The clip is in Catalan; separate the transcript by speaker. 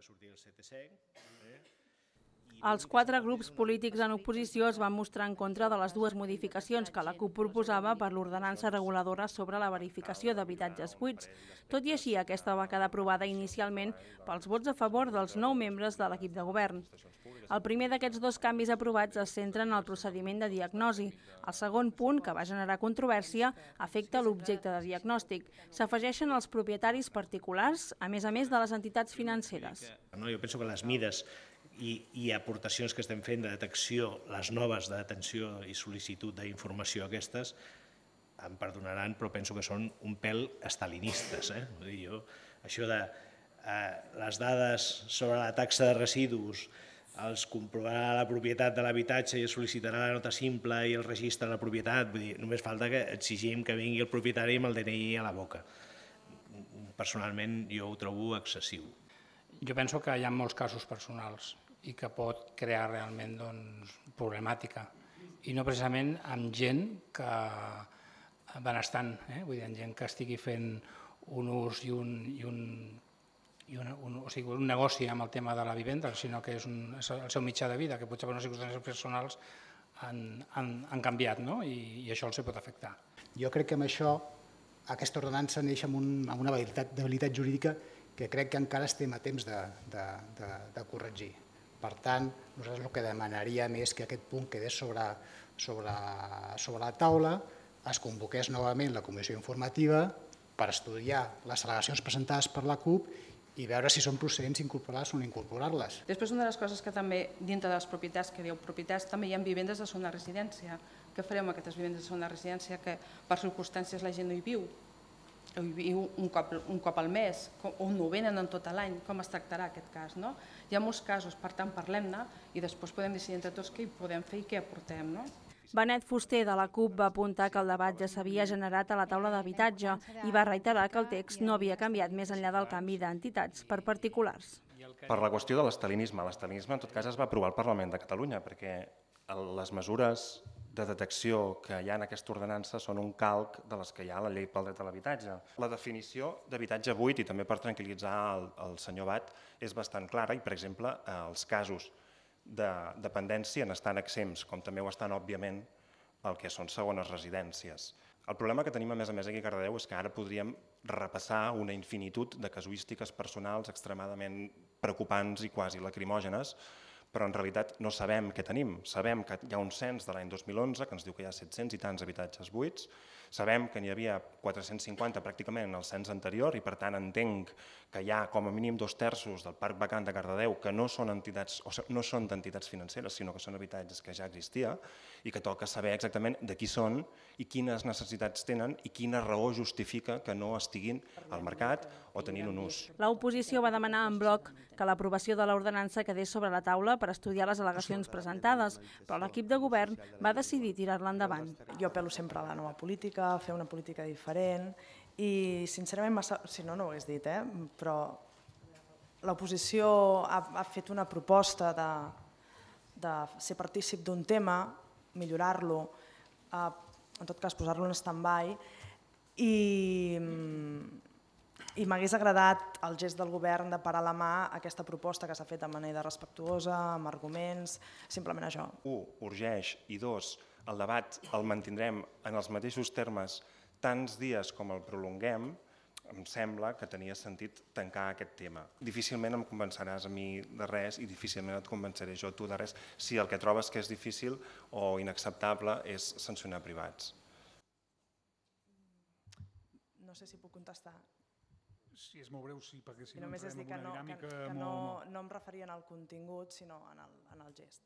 Speaker 1: que sortia el CTC.
Speaker 2: Els 4 grups polítics en oposició es van mostrar en contra de les 2 modificacions que la CUP proposava per l'ordenança reguladora sobre la verificació d'habitatges buits. Tot i així, aquesta va quedar aprovada inicialment pels vots a favor dels 9 membres de l'equip de govern. El primer d'aquests 2 canvis aprovats es centra en el procediment de diagnosi. El segon punt, que va generar controvèrsia, afecta l'objecte de diagnòstic. S'afegeixen els propietaris particulars, a més de les entitats financeres.
Speaker 1: Jo penso que les mides i aportacions que estem fent de detecció, les noves de detenció i sol·licitud d'informació aquestes, em perdonaran, però penso que són un pèl estalinistes. Això de les dades sobre la taxa de residus, els comprovarà la propietat de l'habitatge i es sol·licitarà la nota simple i el registre de la propietat, vull dir, només falta que exigim que vingui el propietari amb el DNI a la boca. Personalment jo ho trobo excessiu.
Speaker 3: Jo penso que hi ha molts casos personals i que pot crear realment problemàtica. I no precisament amb gent que benestant, vull dir, amb gent que estigui fent un ús i un negoci amb el tema de la vivenda, sinó que és el seu mitjà de vida, que potser per unes circumstàncies personals han canviat i això els pot afectar.
Speaker 4: Jo crec que amb això aquesta ordenança neix amb una debilitat jurídica que crec que encara estem a temps de corregir. Per tant, nosaltres el que demanaríem és que aquest punt quedés sobre la taula, es convoqués novament la comissió informativa per estudiar les al·legacions presentades per la CUP i veure si són procedents incorporar-les o no incorporar-les.
Speaker 5: Després, una de les coses que també, dintre de les propietats, que diu propietats, també hi ha vivendes de segona residència. Què farem amb aquestes vivendes de segona residència que per circumstàncies la gent no hi viu? O hi viu un cop al mes, o no venen en tot l'any, com es tractarà aquest cas? Hi ha molts casos, per tant parlem-ne i després podem decidir entre tots què hi podem fer i què aportem.
Speaker 2: Benet Fuster de la CUP va apuntar que el debat ja s'havia generat a la taula d'habitatge i va reiterar que el text no havia canviat més enllà del canvi d'entitats per particulars.
Speaker 6: Per la qüestió de l'estalinisme, l'estalinisme en tot cas es va aprovar al Parlament de Catalunya perquè les mesures de detecció que hi ha en aquesta ordenança són un calc de les que hi ha a la llei pel dret a l'habitatge. La definició d'habitatge buit, i també per tranquil·litzar el senyor Bat, és bastant clara i, per exemple, els casos de dependència n'estan exempts, com també ho estan, òbviament, el que són segones residències. El problema que tenim, a més aquí a Cardedeu, és que ara podríem repassar una infinitud de casuístiques personals extremadament preocupants i quasi lacrimògenes, però en realitat no sabem què tenim. Sabem que hi ha un cens de l'any 2011 que ens diu que hi ha 700 i tants habitatges buits, sabem que n'hi havia 450 pràcticament en el cens anterior i per tant entenc que hi ha com a mínim 2/3 del parc vacant de Cardedeu que no són d'entitats financeres, sinó que són habitatges que ja existia i que toca saber exactament de qui són i quines necessitats tenen i quina raó justifica que no estiguin al mercat o tenint un ús.
Speaker 2: L'oposició va demanar en bloc que l'aprovació de l'ordenança quedés sobre la taula per estudiar les al·legacions presentades, però l'equip de govern va decidir tirar-la endavant.
Speaker 7: Jo apel·lo sempre a la nova política, a fer una política diferent i sincerament, si no, no ho hagués dit, però l'oposició ha fet una proposta de ser partícip d'un tema, millorar-lo, en tot cas posar-lo en stand-by i m'hagués agradat el gest del govern de parar la mà a aquesta proposta que s'ha fet de manera respectuosa, amb arguments, simplement això.
Speaker 6: 1. Urgeix i 2. El debat el mantindrem en els mateixos termes tants dies com el prolonguem, em sembla que tenia sentit tancar aquest tema. Difícilment em convenceràs a mi de res i difícilment et convenceré jo a tu de res si el que trobes que és difícil o inacceptable és sancionar privats.
Speaker 7: No sé si puc contestar.
Speaker 8: Si és molt breu, sí, perquè si no
Speaker 7: només és dir que
Speaker 8: dinàmica
Speaker 7: no em referia al contingut, sinó en el gest.